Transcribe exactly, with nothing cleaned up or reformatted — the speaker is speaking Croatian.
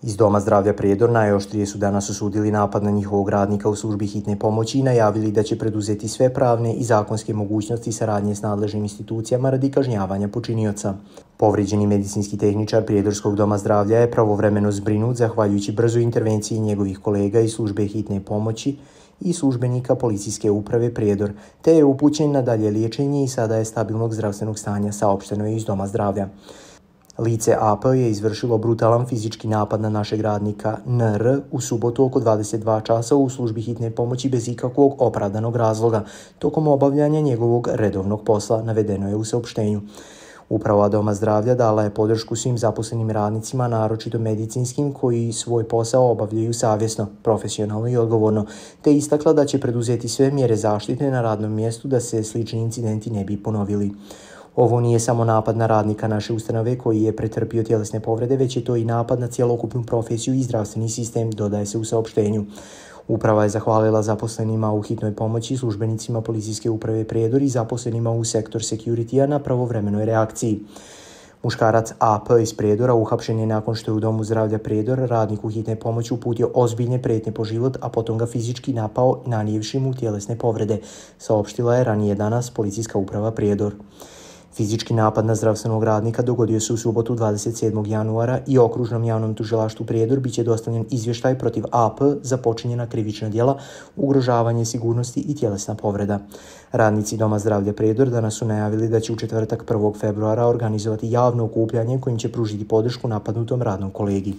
Iz Doma zdravlja Prijedor najoštrije su danas osudili napad na njihovog radnika u službi hitne pomoći i najavili da će preduzeti sve pravne i zakonske mogućnosti saradnje s nadležnim institucijama radi kažnjavanja počinioca. Povrijeđeni medicinski tehničar Prijedorskog doma zdravlja je pravovremeno zbrinut zahvaljujući brzoj intervenciji njegovih kolega iz službe hitne pomoći i službenika policijske uprave Prijedor, te je upućen na dalje liječenje i sada je stabilnog zdravstvenog stanja, saopšteno je iz Doma zdravlja. Lice A P je izvršilo brutalan fizički napad na našeg radnika N R u subotu oko dvadeset dva časa u službi hitne pomoći bez ikakvog opravdanog razloga, tokom obavljanja njegovog redovnog posla, navedeno je u saopštenju. Uprava Doma zdravlja dala je podršku svim zaposlenim radnicima, naročito medicinskim, koji svoj posao obavljaju savjesno, profesionalno i odgovorno, te istakla da će preduzeti sve mjere zaštite na radnom mjestu da se slični incidenti ne bi ponovili. Ovo nije samo napad na radnika naše ustanove koji je pretrpio tjelesne povrede, već je to i napad na cjelokupnu profesiju i zdravstveni sistem, dodaje se u saopštenju. Uprava je zahvalila zaposlenima u hitnoj pomoći, službenicima policijske uprave Prijedor i zaposlenima u sektor security-a na pravovremenoj reakciji. Muškarac A P iz Prijedora uhapšen je nakon što je u Domu zdravlja Prijedor radniku hitne pomoći uputio ozbiljne prijetnje po život, a potom ga fizički napao nanijevši mu tjelesne povrede, saopštila je ranije danas policijska uprava Prijedor. Fizički napad na zdravstvenog radnika dogodio se u subotu dvadeset sedmog januara i okružnom javnom tužilaštvu Prijedor biće dostavljen izvještaj protiv A P za počinjena krivična djela, ugrožavanje sigurnosti i tjelesna povreda. Radnici Doma zdravlja Prijedor danas su najavili da će u četvrtak prvog februara organizovati javno okupljanje kojim će pružiti podršku napadnutom radnom kolegi.